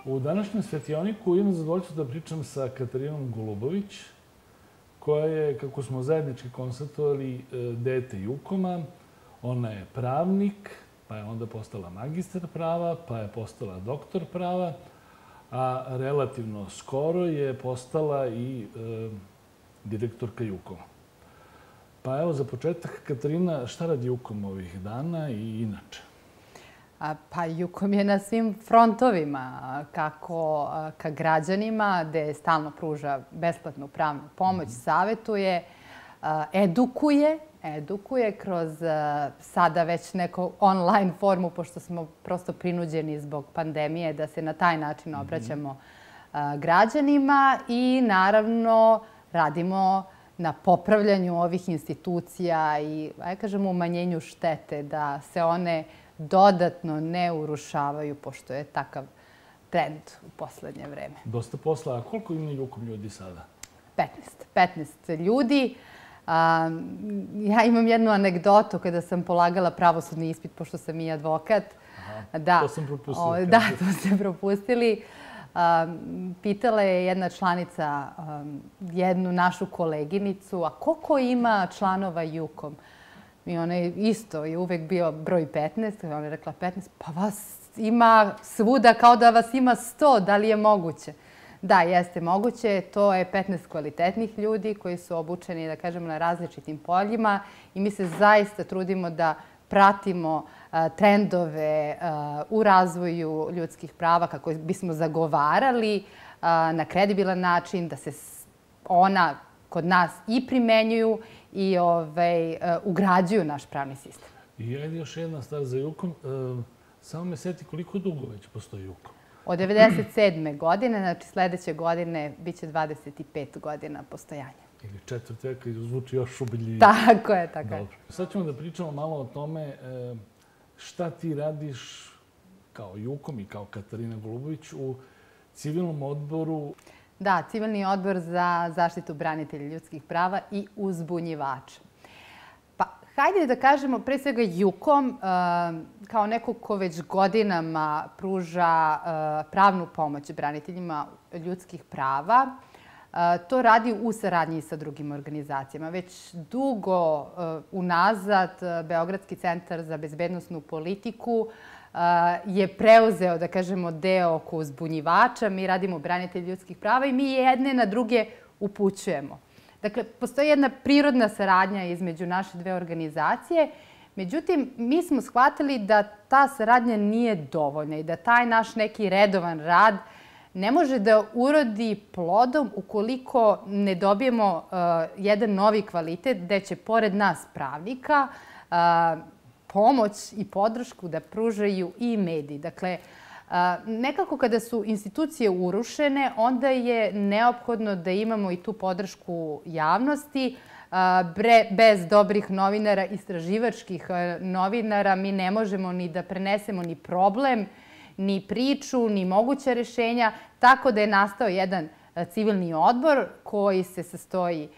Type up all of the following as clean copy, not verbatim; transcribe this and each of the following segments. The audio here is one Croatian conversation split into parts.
U današnjem svetioniku imam zadovoljstvo da pričam sa Katarinom Golubović, koja je, kako smo zajednički konstatovali, dete Jukoma. Ona je pravnik, pa je onda postala magistar prava, pa je postala doktor prava, a relativno skoro je postala i direktorka Jukoma. Pa evo, za početak, Katarina, šta radi Jukom ovih dana i inače? Pa Jukom je na svim frontovima, kako ka građanima, gde stalno pruža besplatnu pravnu pomoć, savetuje, edukuje kroz sada već neku online formu, pošto smo prosto prinuđeni zbog pandemije da se na taj način obraćamo građanima i naravno radimo na popravljanju ovih institucija i, ajde kažemo, umanjenju štete, da se one dodatno ne urušavaju, pošto je takav trend u poslednje vreme. Dosta posla. A koliko ima Jukom ljudi sada? 15 ljudi. Ja imam jednu anegdotu kada sam polagala pravosudni ispit, pošto sam i advokat. To sam propustila. Da, to ste propustili. Pitala je jedna članica jednu našu koleginicu, a koliko ima članova Jukom? I ona je isto, je uvek bio broj 15. Ona je rekla 15, pa vas ima svuda kao da vas ima 100. Da li je moguće? Da, jeste moguće. To je 15 kvalitetnih ljudi koji su obučeni, da kažemo, na različitim poljima i mi se zaista trudimo da pratimo trendove u razvoju ljudskih prava kako bismo zagovarali na kredibilan način da se ona kod nas i primenjuju i ugrađuju naš pravni sistem. I ajde još jedna stvar za Jukom. Samo me seti koliko dugo već postoji Jukom. Od 1997. godine, znači sledeće godine, bit će 25 godina postojanja. Ili četvrt veka, zvuči još ubedljivije. Tako je, tako je. Sad ćemo da pričamo malo o tome šta ti radiš kao Jukom i kao Katarina Golubović u civilnom odboru. Da, civilni odbor za zaštitu branitelja ljudskih prava i uzbunjivača. Pa, hajde da kažemo, pre svega Jukom, kao neko ko već godinama pruža pravnu pomoć braniteljima ljudskih prava, to radi u saradnji sa drugim organizacijama. Već dugo unazad Beogradski centar za bezbednosnu politiku je preuzeo, da kažemo, deo oko uzbunjivača. Mi radimo branitelji ljudskih prava i mi jedne na druge upućujemo. Dakle, postoji jedna prirodna saradnja između naše dve organizacije. Međutim, mi smo shvatili da ta saradnja nije dovoljna i da taj naš neki redovan rad ne može da urodi plodom ukoliko ne dobijemo jedan novi kvalitet gde će pored nas pravnika pomoć i podršku da pružaju i mediji. Dakle, nekako kada su institucije urušene, onda je neophodno da imamo i tu podršku javnosti. Bez dobrih novinara, istraživačkih novinara, mi ne možemo ni da prenesemo ni problem, ni priču, ni moguća rešenja, tako da je nastao jedan civilni odbor koji se sastoji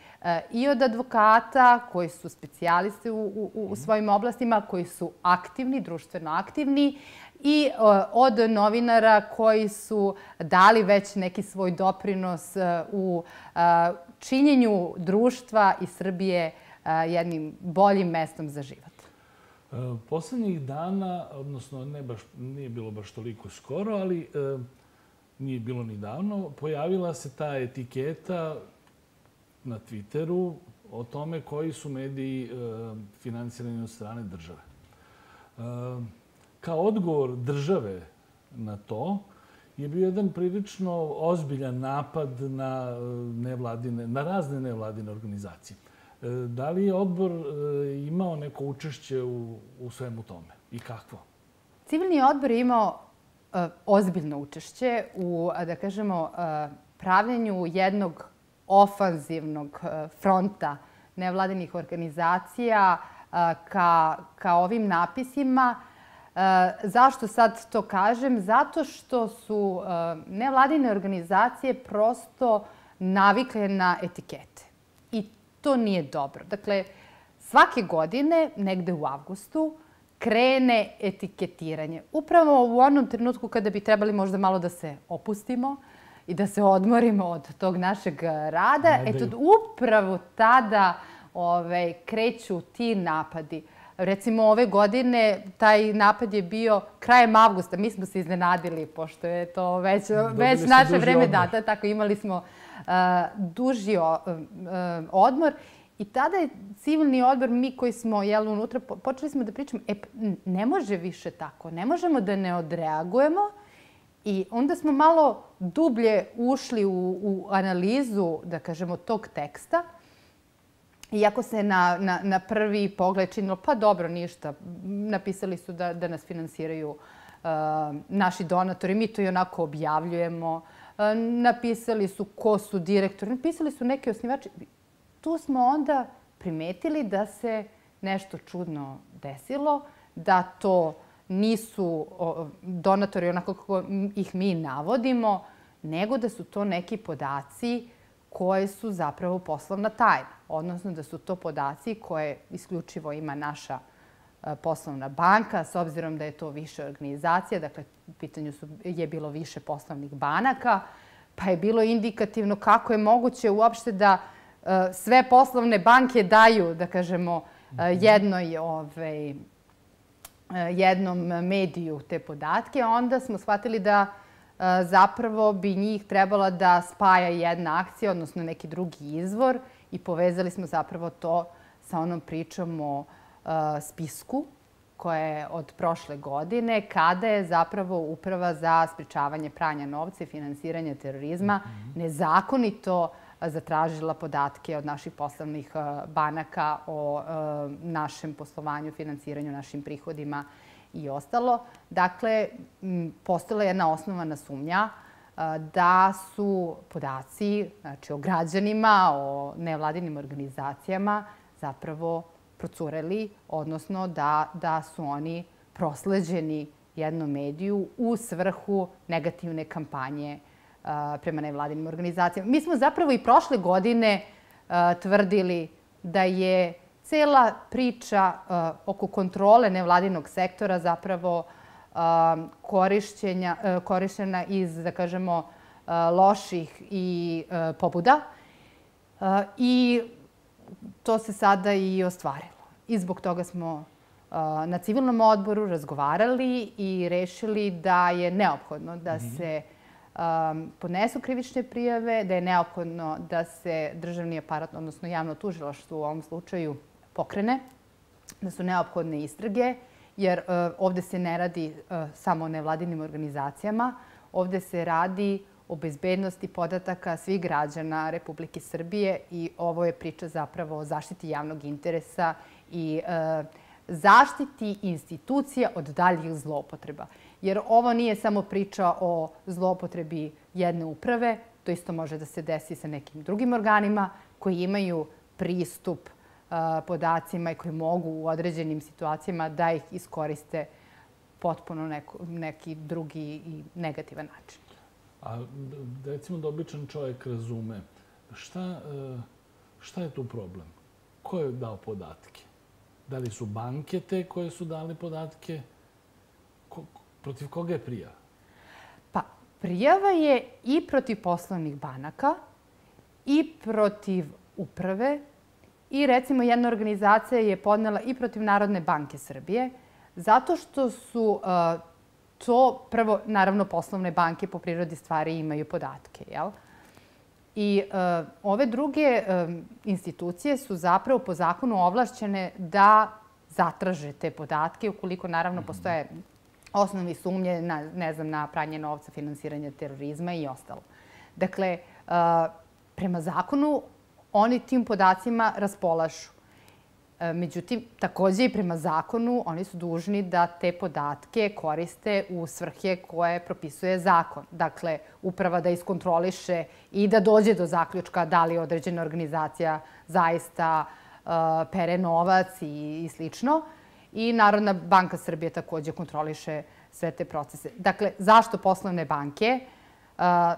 i od advokata, koji su specijalisti u svojim oblastima, koji su aktivni, društveno aktivni, i od novinara koji su dali već neki svoj doprinos u činjenju društva i Srbije jednim boljim mestom za život. Poslednjih dana, odnosno nije bilo baš toliko skoro, ali nije bilo ni davno, pojavila se ta etiketa na Twitteru o tome koji su mediji finansirani od strane države. Kao odgovor države na to je bio jedan prilično ozbiljan napad na razne nevladine organizacije. Da li je odbor imao neko učešće u svemu tome i kakvo? Civilni odbor je imao ozbiljno učešće u, da kažemo, pravljenju jednog ofanzivnog fronta nevladinih organizacija ka ovim napisima. Zašto sad to kažem? Zato što su nevladine organizacije prosto navikle na etikete. I to nije dobro. Dakle, svake godine, negde u avgustu, krene etiketiranje. Upravo u onom trenutku kada bi trebali možda malo da se opustimo i da se odmorimo od tog našeg rada, upravo tada kreću ti napadi. Recimo, ove godine taj napad je bio krajem avgusta. Mi smo se iznenadili, pošto je to već naše vreme data. Tako, imali smo duži odmor. I tada je civilni odbor, mi koji smo unutra, počeli smo da pričamo, ne može više tako, ne možemo da ne odreagujemo. I onda smo malo dublje ušli u analizu, da kažemo, tog teksta. Iako se na prvi pogled činilo, pa dobro, ništa. Napisali su da nas finansiraju naši donatori, mi to i onako objavljujemo. Napisali su ko su direktori, napisali su neki osnivači. Tu smo onda primetili da se nešto čudno desilo, da to nisu donatori onako kako ih mi navodimo, nego da su to neki podaci koje su zapravo poslovna tajna. Odnosno da su to podaci koje isključivo ima naša poslovna banka, s obzirom da je to više organizacija, dakle u pitanju je bilo više poslovnih banaka, pa je bilo indikativno kako je moguće uopšte da sve poslovne banke daju, da kažemo, jednom mediju te podatke. Onda smo shvatili da zapravo bi njih trebala da spaja jedna akcija, odnosno neki drugi izvor, i povezali smo zapravo to sa onom pričom o spisku koja je od prošle godine, kada je zapravo Uprava za sprečavanje pranja novca i finansiranja terorizma nezakonito zatražila podatke od naših poslovnih banaka o našem poslovanju, finansiranju, našim prihodima i ostalo. Dakle, postojala je jedna osnovana sumnja da su podaci, znači o građanima, o nevladinim organizacijama zapravo procureli, odnosno da su oni prosleđeni jednom mediju u svrhu negativne kampanje prema nevladinim organizacijama. Mi smo zapravo i prošle godine tvrdili da je cela priča oko kontrole nevladinog sektora zapravo korišćena iz, da kažemo, loših i pobuda. I to se sada i ostvarilo. I zbog toga smo na civilnom odboru razgovarali i rešili da je neophodno da se podnesu krivične prijave, da je neophodno da se državni aparat, odnosno javno tužilaštvo u ovom slučaju pokrene, da su neophodne istrage, jer ovde se ne radi samo o nevladinim organizacijama, ovde se radi o bezbednosti podataka svih građana Republike Srbije i ovo je priča zapravo o zaštiti javnog interesa i zaštiti institucija od daljih zloupotreba. Jer ovo nije samo priča o zloupotrebi jedne uprave, to isto može da se desi sa nekim drugim organima koji imaju pristup podacima i koji mogu u određenim situacijama da ih iskoriste potpuno neki drugi i negativan način. A recimo da običan čovjek razume, šta je tu problem? Ko je dao podatke? Da li su banke te koje su dali podatke? Protiv koga je prijava? Pa, prijava je i protiv poslovnih banaka, i protiv uprave, i recimo jedna organizacija je podnela i protiv Narodne banke Srbije, zato što su to, prvo, naravno, poslovne banke po prirodi stvari imaju podatke, jel? I ove druge institucije su zapravo po zakonu ovlašćene da zatraže te podatke, ukoliko naravno postoje osnovni sumnje na pranje novca, finansiranje terorizma i ostalo. Dakle, prema zakonu oni tim podacima raspolažu. Međutim, takođe i prema zakonu oni su dužni da te podatke koriste u svrhe koje propisuje zakon. Dakle, uprava da iskontroliše i da dođe do zaključka da li određena organizacija zaista pere novac i slično. I Narodna banka Srbije takođe kontroliše sve te procese. Dakle, zašto poslovne banke?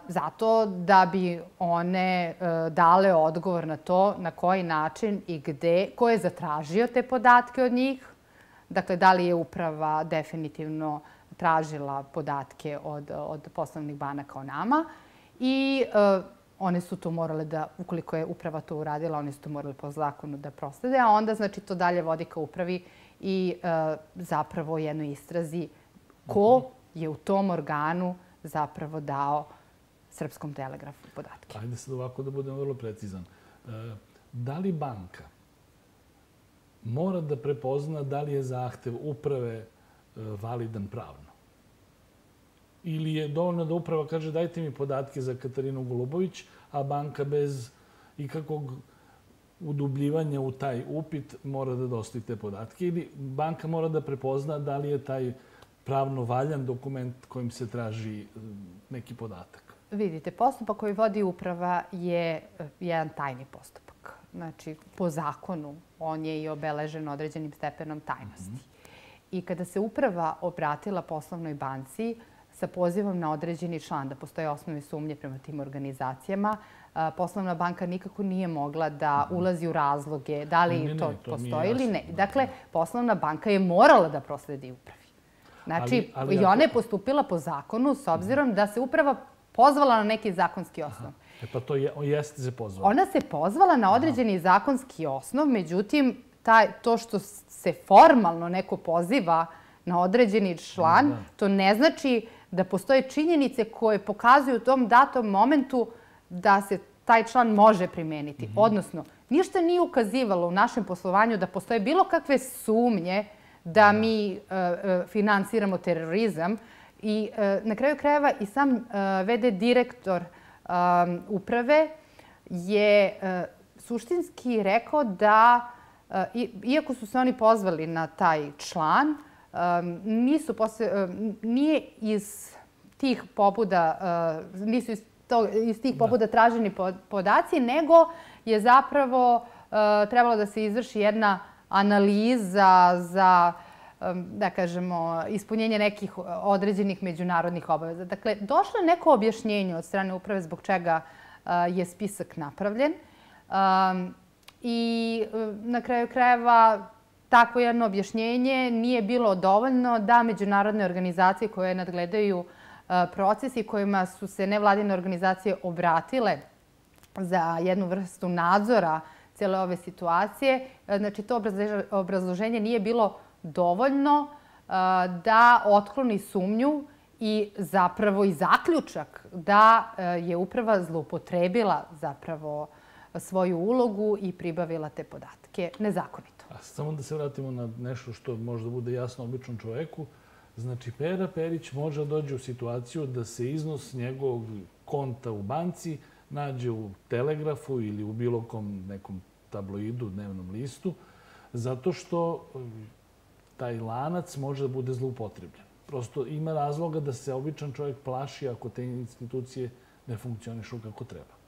Zato da bi one dale odgovor na to na koji način i gde, ko je zatražio te podatke od njih, Dakle, da li je uprava definitivno tražila podatke od poslovnih banaka o nama i one su to morale da, ukoliko je uprava to uradila, one su to morali po zakonu da proslede, a onda znači to dalje vodi ka upravi i zapravo jednoj istrazi ko je u tom organu zapravo dao Srpskom telegrafu podatke. Ajde sad ovako da budem vrlo precizan. Da li banka mora da prepozna da li je zahtev uprave validan pravno? Ili je dovoljno da uprava kaže dajte mi podatke za Katarinu Golubović, a banka bez ikakvog udubljivanja u taj upit mora da dostavi te podatke? Ili banka mora da prepozna da li je taj pravno valjan dokument kojim se traži neki podatak? Vidite, postupak koji vodi uprava je jedan tajni postupak. Znači, po zakonu on je i obeležen određenim stepenom tajnosti. I kada se uprava obratila poslovnoj banci sa pozivom na određeni član, da postoje osnovne sumnje prema tim organizacijama, poslovna banka nikako nije mogla da ulazi u razloge da li to postoji ili ne. Dakle, poslovna banka je morala da prosledi upravi. Znači, i ona je postupila po zakonu s obzirom da se uprava pozvala na neki zakonski osnov. Pa to jeste se pozvala? Ona se pozvala na određeni zakonski osnov, međutim, to što se formalno neko poziva na određeni član, to ne znači da postoje činjenice koje pokazuju u tom datom momentu da se taj član može primeniti. Odnosno, ništa nije ukazivalo u našem poslovanju da postoje bilo kakve sumnje da mi finansiramo terorizam. I na kraju krajeva i sam VD direktor uprave je suštinski rekao da, iako su se oni pozvali na taj član, nije iz tih pobuda traženi podaci, nego je zapravo trebalo da se izvrši jedna analiza za, da kažemo, ispunjenje nekih određenih međunarodnih obaveza. Dakle, došlo je neko objašnjenje od strane uprave zbog čega je spisak napravljen. I na kraju krajeva takvo jedno objašnjenje nije bilo dovoljno da međunarodne organizacije koje nadgledaju proces i kojima su se nevladine organizacije obratile za jednu vrstu nadzora cijele ove situacije, znači to obrazloženje nije bilo dovoljno da otkloni sumnju i zapravo i zaključak da je uprava zloupotrebila zapravo svoju ulogu i pribavila te podatke nezakonito. Samo da se vratimo na nešto što možda bude jasno običnom čoveku. Znači, Pera Perić može dođe u situaciju da se iznos njegovog konta u banci nađe u Telegrafu ili u bilo kom nekom tabloidu, dnevnom listu, zato što taj lanac može da bude zloupotrebljen. Prosto ima razloga da se običan čovjek plaši ako te institucije ne funkcionišu kako treba.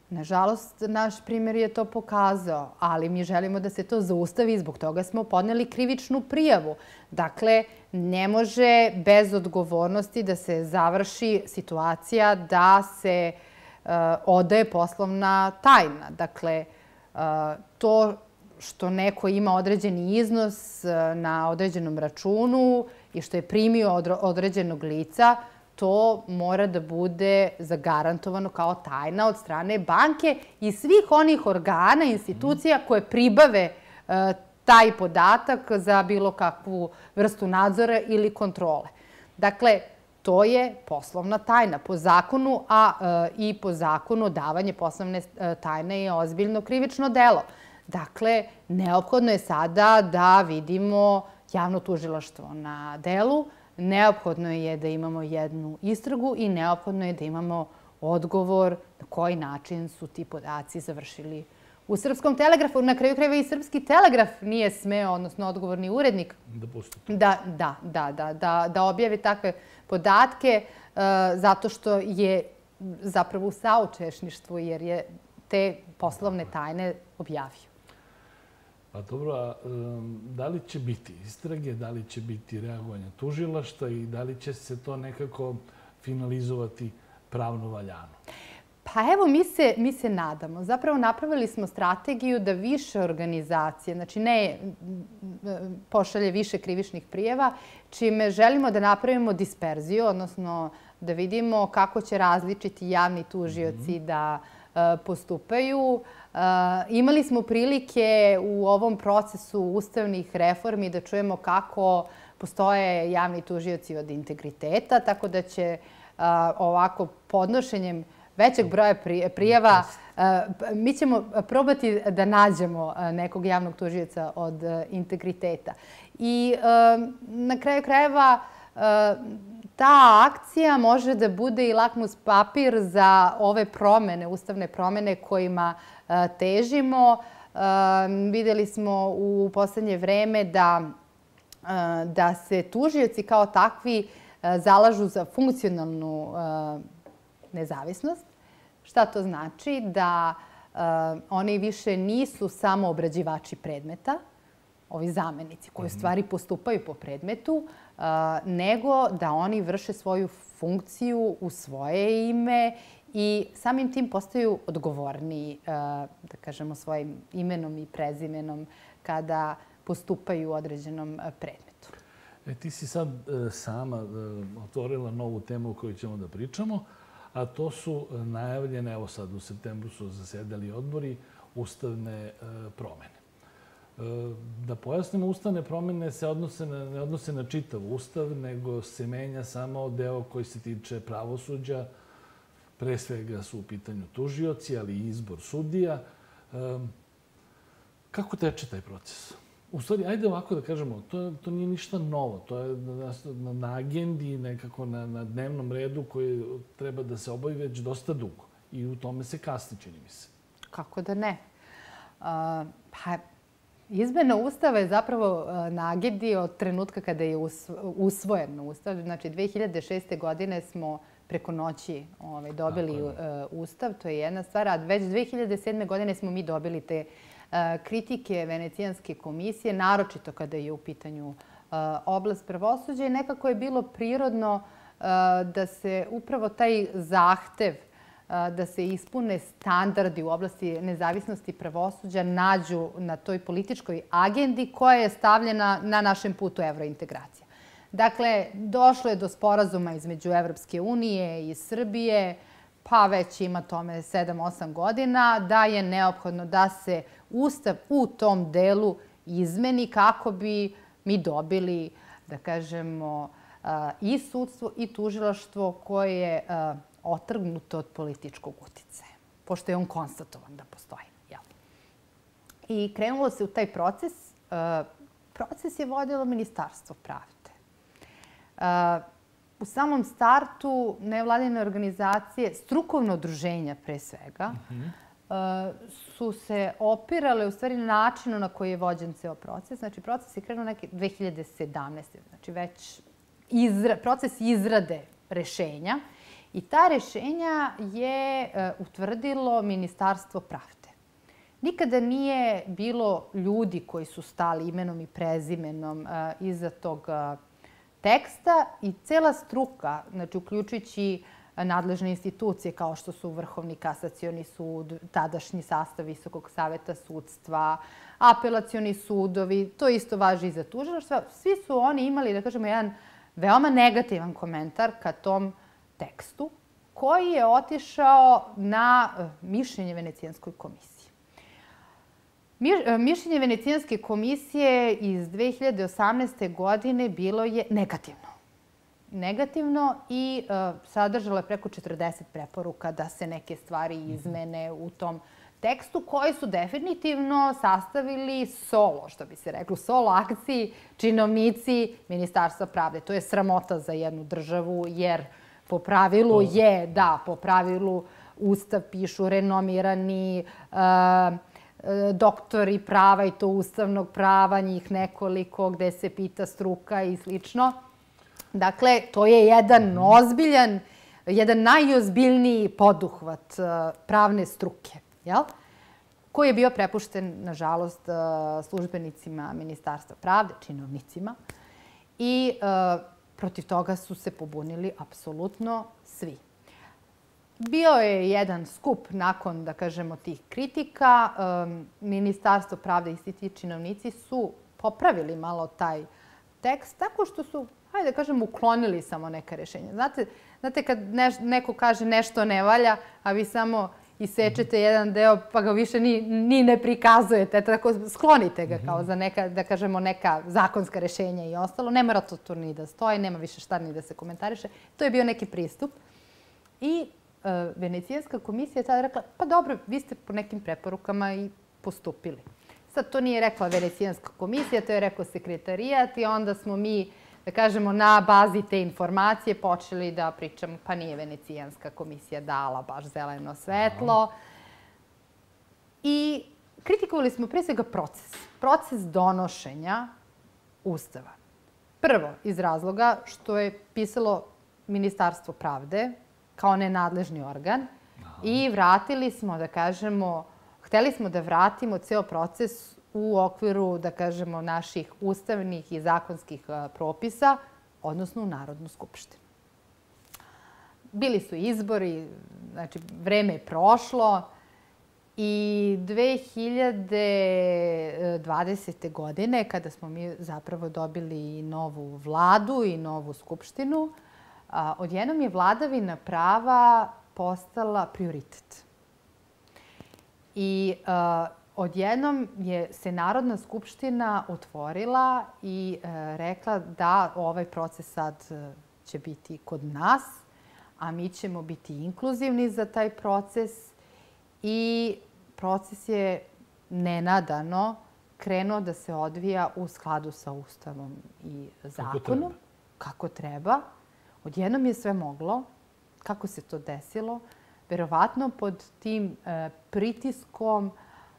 Nažalost, naš primjer je to pokazao, ali mi želimo da se to zaustavi i zbog toga smo podneli krivičnu prijavu. Dakle, ne može bez odgovornosti da se završi situacija da se odaje poslovna tajna. Dakle, to što neko ima određeni iznos na određenom računu i što je primio od određenog lica, to mora da bude zagarantovano kao tajna od strane banke i svih onih organa, institucija koje pribave taj podatak za bilo kakvu vrstu nadzora ili kontrole. Dakle, to je poslovna tajna po zakonu, a i po zakonu davanje poslovne tajne je ozbiljno krivično delo. Dakle, neophodno je sada da vidimo javno tužilaštvo na delu, neophodno je da imamo jednu istragu i neophodno je da imamo odgovor na koji način su ti podaci završili u Srpskom telegrafu. Na kraju krajeva i Srpski telegraf nije smeo, odnosno odgovorni urednik, da objavi takve podatke zato što je zapravo u saučešništvu jer je te poslovne tajne objavio. Pa dobro, a da li će biti istrage, da li će biti reagovanja tužilaštva i da li će se to nekako finalizovati pravno valjano? Pa evo, mi se nadamo. Zapravo napravili smo strategiju da više organizacije, znači ne pošalje više krivičnih prijava, čime želimo da napravimo disperziju, odnosno da vidimo kako će različiti javni tužioci da postupaju. Imali smo prilike u ovom procesu ustavnih reformi da čujemo kako postoje javni tužioci od integriteta, tako da će ovako podnošenjem većeg broja prijava mi ćemo probati da nađemo nekog javnog tužioca od integriteta. I na kraju krajeva ta akcija može da bude i lakmus papir za ove promene, ustavne promene kojima težimo. Videli smo u poslednje vreme da se tužioci kao takvi zalažu za funkcionalnu nezavisnost. Šta to znači? Da oni više nisu samo obrađivači predmeta, ovi zamenici koji u stvari postupaju po predmetu, nego da oni vrše svoju funkciju u svoje ime i samim tim postaju odgovorniji, da kažemo, svojim imenom i prezimenom kada postupaju u određenom predmetu. Ti si sad sama otvorila novu temu o kojoj ćemo da pričamo, a to su najavljene, evo sad u septembru su zasedali odbori, ustavne promene. Da pojasnimo, ustavne promene se ne odnose na čitav ustav, nego se menja samo deo koji se tiče pravosuđa. Pre svega su u pitanju tužioci, ali i izbor sudija. Kako teče taj proces? U stvari, ajde ovako da kažemo, to nije ništa novo. To je na agendi, nekako na dnevnom redu koji treba da se obavi već dosta dugo. I u tome se kasni, čini mi se. Kako da ne? Pa, izmena Ustava je zapravo na agendi od trenutka kada je usvojen Ustav. Znači, 2006. godine smo preko noći dobili Ustav, to je jedna stvar. A već 2007. godine smo mi dobili te kritike Venecijanske komisije, naročito kada je u pitanju oblast pravosuđa. I nekako je bilo prirodno da se upravo taj zahtev da se ispune standardi u oblasti nezavisnosti pravosuđa nađu na toj političkoj agendi koja je stavljena na našem putu evrointegracija. Dakle, došlo je do sporazuma između Evropske unije i Srbije, pa već ima tome 7-8 godina, da je neophodno da se Ustav u tom delu izmeni kako bi mi dobili, da kažemo, i sudstvo i tužilaštvo koje je otrgnuto od političkog uticaja, pošto je on konstatovan da postoji. I krenulo se u taj proces. Proces je vodilo Ministarstvo pravde. U samom startu nevladine organizacije, strukovno udruženja pre svega, su se opirale u stvari na načinu na koji je vođen ceo proces. Znači, proces je krenuo neke 2017. Znači, već proces izrade rešenja. I ta rešenja je utvrdilo Ministarstvo pravde. Nikada nije bilo ljudi koji su stali imenom i prezimenom iza tog teksta i cela struka, znači uključujući nadležne institucije kao što su Vrhovni kasacioni sud, tadašnji sastav Visokog saveta sudstva, apelacioni sudovi, to isto važi i za tužilaštva. Svi su oni imali, da kažemo, jedan veoma negativan komentar ka tom tekstu koji je otišao na mišljenje Venecijanskoj komisiji. Mišljenje Venecijanske komisije iz 2018. godine bilo je negativno. Negativno i sadržalo je preko 40 preporuka da se neke stvari izmene u tom tekstu koji su definitivno sastavili solo, što bi se reklo, solo akciji činovnici Ministarstva pravde. To je sramota za jednu državu jer po pravilu je, da, po pravilu Ustav pišu renomirani doktori prava i to ustavnog prava, njih nekoliko gde se pita struka i slično. Dakle, to je jedan ozbiljan, jedan najozbiljniji poduhvat pravne struke, koji je bio prepušten, nažalost, službenicima Ministarstva pravde, činovnicima. I protiv toga su se pobunili apsolutno svi. Bio je jedan skup nakon, da kažemo, tih kritika. Ministarstvo pravde i svi ti činovnici su popravili malo taj tekst tako što su, hajde da kažem, uklonili samo neka rješenja. Znate kad neko kaže nešto ne valja, a vi samo isečete jedan deo pa ga više ni ne prikazujete, tako sklonite ga kao za neka, da kažemo, neka zakonska rješenja i ostalo. Ne mora to tu ni da stoji, nema više šta ni da se komentariše. To je bio neki pristup. I Venecijanska komisija je tada rekla, pa dobro, vi ste po nekim preporukama i postupili. Sad to nije rekla Venecijanska komisija, to je rekao sekretarijat i onda smo mi, da kažemo, na bazi te informacije počeli da pričamo, pa nije Venecijanska komisija dala baš zeleno svetlo. I kritikovali smo pre svega proces donošenja Ustava. Prvo, iz razloga što je pisalo Ministarstvo pravde kao nenadležni organ i vratili smo, da kažemo, hteli smo da vratimo ceo proces u okviru, da kažemo, naših ustavnih i zakonskih propisa, odnosno u Narodnu skupštinu. Bili su izbori, znači vreme je prošlo i 2020. godine, kada smo mi zapravo dobili novu vladu i novu skupštinu, odjednom je vladavina prava postala prioritet. I odjednom je se Narodna skupština otvorila i rekla da ovaj proces sad će biti kod nas, a mi ćemo biti inkluzivni za taj proces i proces je nenadano krenuo da se odvija u skladu sa Ustavom i zakonom. Kako treba. Odjednom je sve moglo. Kako se to desilo? Verovatno pod tim pritiskom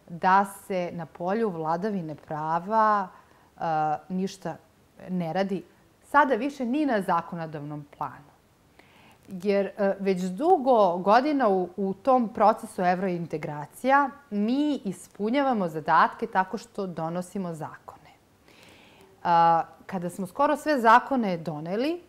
da se na polju vladavine prava ništa ne radi. Sada više ni na zakonodavnom planu. Jer već dugo godina u tom procesu evrointegracija mi ispunjavamo zadatke tako što donosimo zakone. Kada smo skoro sve zakone doneli,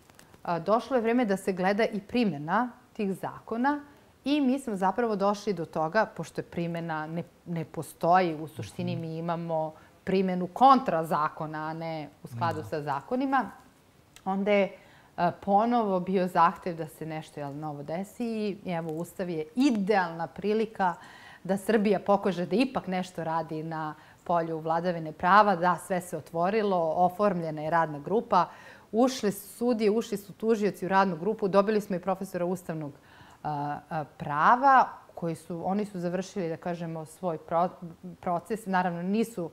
došlo je vreme da se gleda i primjena tih zakona i mi smo zapravo došli do toga, pošto je primjena ne postoji, u suštini mi imamo primjenu kontra zakona, a ne u skladu sa zakonima, onda je ponovo bio zahtev da se nešto novo desi i evo, Ustav je idealna prilika da Srbija pokaže da ipak nešto radi na polju vladavine prava, da sve se otvorilo, oformljena je radna grupa, ušli su sudije, ušli su tužioci u radnu grupu, dobili smo i profesora ustavnog prava, oni su završili, da kažemo, svoj proces. Naravno, nisu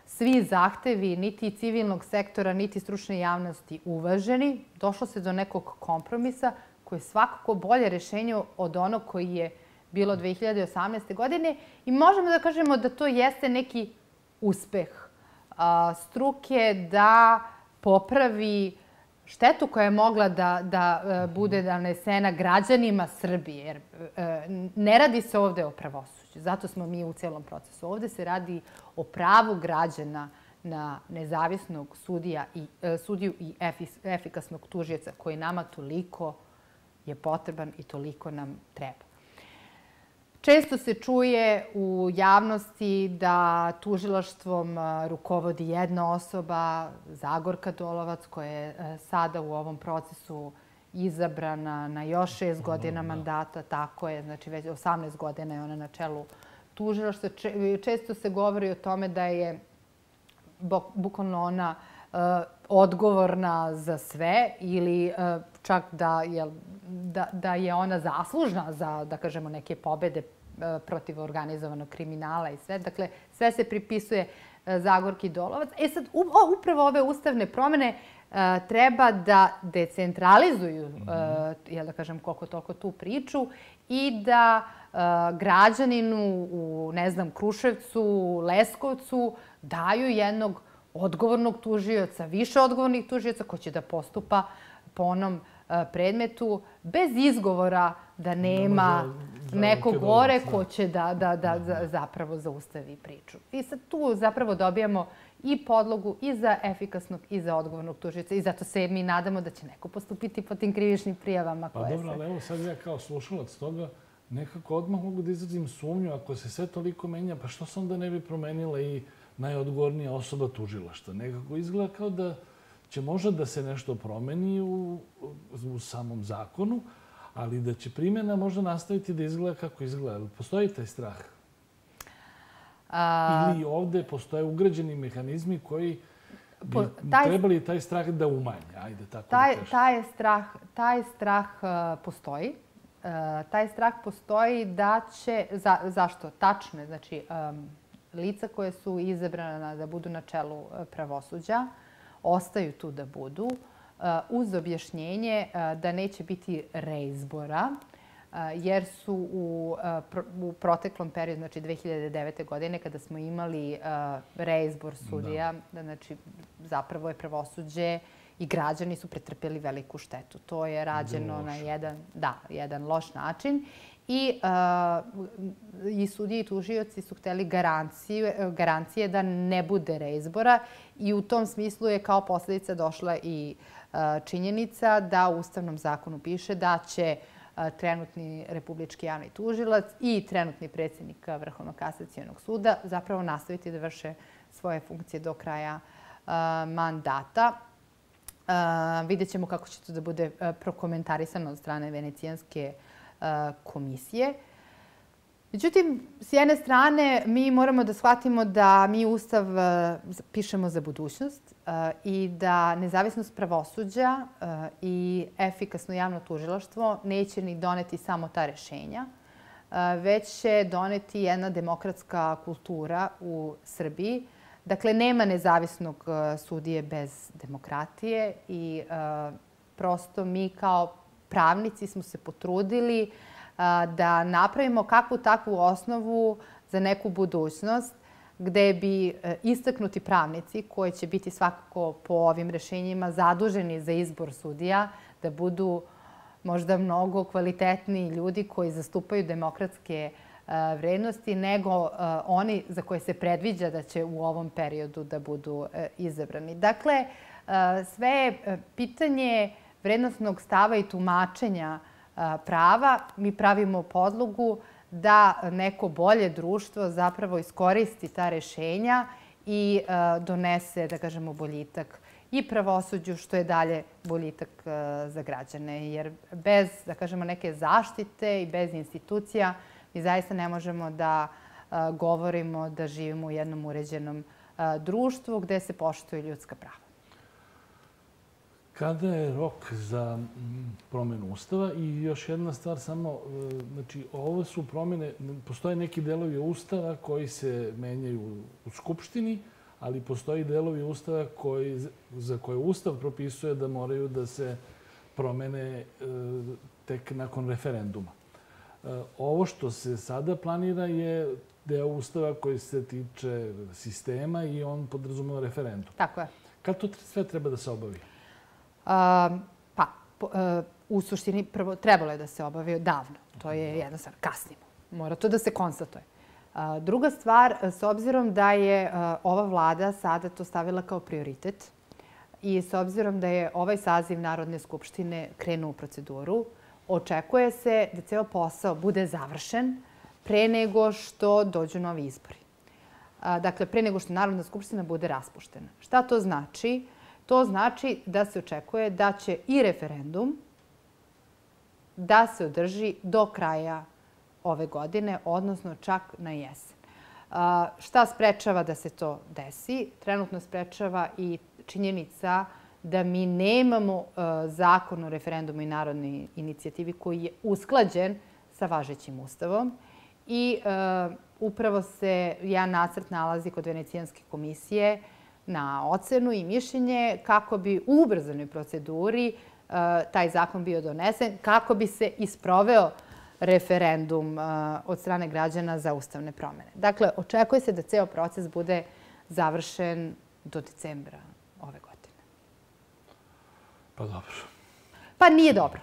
svi zahtevi, niti civilnog sektora, niti stručne javnosti uvaženi. Došlo se do nekog kompromisa koji je svakako bolje rješenje od onog koji je bilo 2018. godine i možemo da kažemo da to jeste neki uspeh struke da popravi štetu koja je mogla da bude nanesena građanima Srbije. Jer ne radi se ovde o pravosuđu. Zato smo mi u celom procesu. Ovde se radi o pravu građana na nezavisnog sudiju i efikasnog tužioca koji nama toliko je potreban i toliko nam treba. Često se čuje u javnosti da tužilaštvom rukovodi jedna osoba, Zagorka Dolovac, koja je sada u ovom procesu izabrana na još 6 godina mandata. Tako je, znači već 18 godina je ona na čelu tužilaštva. Često se govori o tome da je bukvalno ona odgovorna za sve ili čak da je ona zaslužna za, da kažemo, neke pobede protiv organizovanog kriminala i sve. Dakle, sve se pripisuje Zagorki Dolovac. Sad, upravo ove ustavne promjene treba da decentralizuju, da kažem, koliko toliko tu priču i da građaninu u, ne znam, Kruševcu, Leskovcu daju jednog odgovornog tužioca, više odgovornih tužioca koji će da postupa po onom predmetu bez izgovora da nema nekog gore ko će da zapravo zaustavi priču. I sad tu zapravo dobijamo i podlogu i za efikasnog i za odgovornog tužioca. I zato se mi nadamo da će neko postupiti po tim krivičnim prijavama koje se... Pa dobro, ali evo sad ja kao slušalac toga nekako odmah mogu da izrazim sumnju. Ako se sve toliko menja, pa što se onda ne bi promenila i najodgovornija osoba tužilaštva? Nekako izgleda kao da će možda da se nešto promeni u samom zakonu, ali da će primjena možda nastaviti da izgleda kako izgleda. Postoji taj strah? Ili ovde postoje ugrađeni mehanizmi koji bi trebali taj strah da umanje? Ajde, tako da kažem. Taj strah postoji. Taj strah postoji da će... Zašto? Tačno je. Znači, lica koje su izabrana da budu na čelu pravosuđa ostaju tu da budu uz objašnjenje da neće biti reizbora, jer su u proteklom periodu, znači 2009. godine, kada smo imali reizbor sudija, znači zapravo je pravosuđe i građani su pretrpeli veliku štetu. To je rađeno na jedan loš način. I sudije i tužioci su hteli garancije da ne bude reizbora i u tom smislu je kao posljedica došla i činjenica da u Ustavnom zakonu piše da će trenutni republički javni tužilac i trenutni predsjednik Vrhovnog kasacionog suda zapravo nastaviti da vrše svoje funkcije do kraja mandata. Vidjet ćemo kako će to da bude prokomentarisano od strane Venecijanske komisije. Međutim, s jedne strane, mi moramo da shvatimo da mi Ustav pišemo za budućnost i da nezavisnost pravosuđa i efikasno javno tužilaštvo neće ni doneti samo ta rešenja, već će doneti jedna demokratska kultura u Srbiji. Dakle, nema nezavisnog sudije bez demokratije i prosto mi kao pravnici smo se potrudili da napravimo kakvu takvu osnovu za neku budućnost gde bi istaknuti pravnici koji će biti svakako po ovim rešenjima zaduženi za izbor sudija da budu možda mnogo kvalitetniji ljudi koji zastupaju demokratske vrednosti nego oni za koje se predviđa da će u ovom periodu da budu izabrani. Dakle, sve je pitanje vrednostnog stava i tumačenja prava. Mi pravimo podlogu da neko bolje društvo zapravo iskoristi ta rešenja i donese, da kažemo, boljitak i pravosuđu, što je dalje boljitak za građane. Jer bez, da kažemo, neke zaštite i bez institucija mi zaista ne možemo da govorimo da živimo u jednom uređenom društvu gde se poštuju ljudska prava. Kada je rok za promjenu Ustava? I još jedna stvar samo, znači ovo su promjene, postoje neki delovi Ustava koji se menjaju u Skupštini, ali postoji delovi Ustava za koje Ustav propisuje da moraju da se promene tek nakon referenduma. Ovo što se sada planira je deo Ustava koji se tiče sistema i on podrazumeva referendum. Tako je. Kad to sve treba da se obavi? U suštini prvo trebalo je da se obavi davno. To je jedna stvar. Kasnimo. Mora to da se konstatuje. Druga stvar, s obzirom da je ova vlada sada to stavila kao prioritet i s obzirom da je ovaj saziv Narodne skupštine krenuo u proceduru, očekuje se da ceo posao bude završen pre nego što dođu novi izbori. Dakle, pre nego što Narodna skupština bude raspuštena. Šta to znači? To znači da se očekuje da će i referendum da se održi do kraja ove godine, odnosno čak na jesen. Šta sprečava da se to desi? Trenutno sprečava i činjenica da mi nemamo zakon o referendumu i narodnoj inicijativi koji je usklađen sa važećim Ustavom. I upravo se jedan nacrt nalazi kod Venecijanske komisije na ocenu i mišljenje kako bi u ubrzanoj proceduri taj zakon bio donesen, kako bi se isproveo referendum od strane građana za ustavne promjene. Dakle, očekuje se da ceo proces bude završen do decembra ove godine. Pa dobro. Pa nije dobro.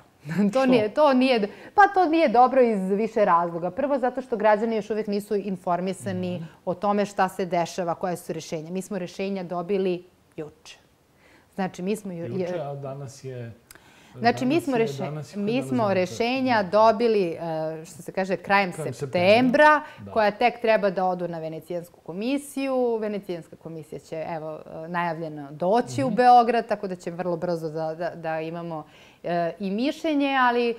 To nije dobro iz više razloga. Prvo, zato što građani još uvijek nisu informisani o tome šta se dešava, koje su rješenja. Mi smo rješenja dobili juče. Znači, juče, a danas je... Znači, mi smo rješenja dobili, što se kaže, krajem septembra, koja tek treba da odu na Venecijansku komisiju. Venecijanska komisija će, evo, najavljeno doći u Beograd, tako da će vrlo brzo da imamo i mišljenje, ali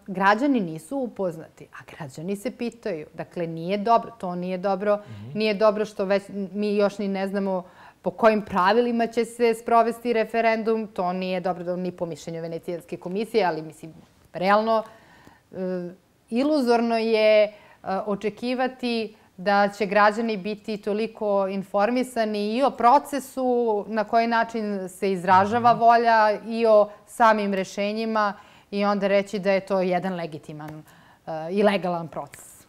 građani nisu upoznati, a građani se pitaju. Dakle, nije dobro, to nije dobro. Nije dobro što već mi još ni ne znamo po kojim pravilima će se sprovesti referendum. To nije dobro ni po mišljenju Venecijanske komisije, ali mislim, realno, iluzorno je očekivati da će građani biti toliko informisani i o procesu, na koji način se izražava volja, i o samim rešenjima, i onda reći da je to jedan legitiman i legalan proces.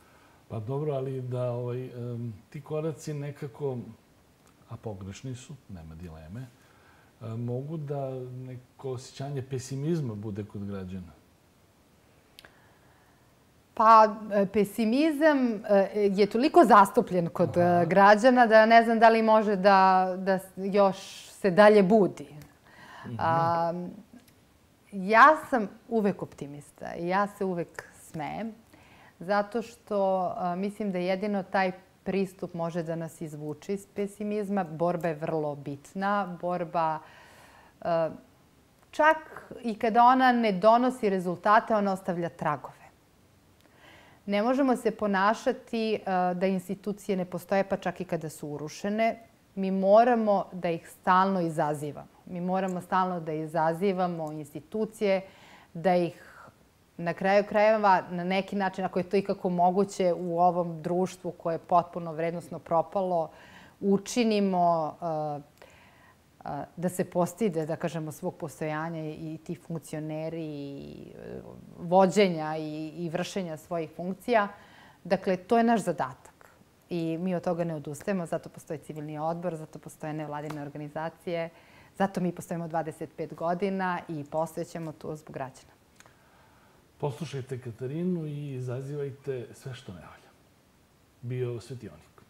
Pa dobro, ali da ti koraci nekako, a pogrešni su, nema dileme, mogu da neko osjećanje pesimizma bude kod građana? Pa, pesimizam je toliko zastupljen kod građana da ne znam da li može da još se dalje budi. Ja sam uvek optimista i ja se uvek smejem, zato što mislim da jedino taj pristup može da nas izvuče iz pesimizma. Borba je vrlo bitna. Borba, čak i kada ona ne donosi rezultate, ona ostavlja tragove. Ne možemo se ponašati da institucije ne postoje, pa čak i kada su urušene. Mi moramo da ih stalno izazivamo. Mi moramo stalno da izazivamo institucije, da ih na kraju krajeva, na neki način, ako je to ikako moguće u ovom društvu koje je potpuno vrednosno propalo, učinimo da se postide, da kažemo, svog postojanja i ti funkcioneri i vođenja i vršenja svojih funkcija. Dakle, to je naš zadatak. I mi od toga ne odustajemo, zato postoji civilni odbor, zato postoje nevladine organizacije, zato mi postojimo 25 godina i postojećemo tu zbog građana. Poslušajte Katarinu i izazivajte sve što ne valja. Bio Svetionik.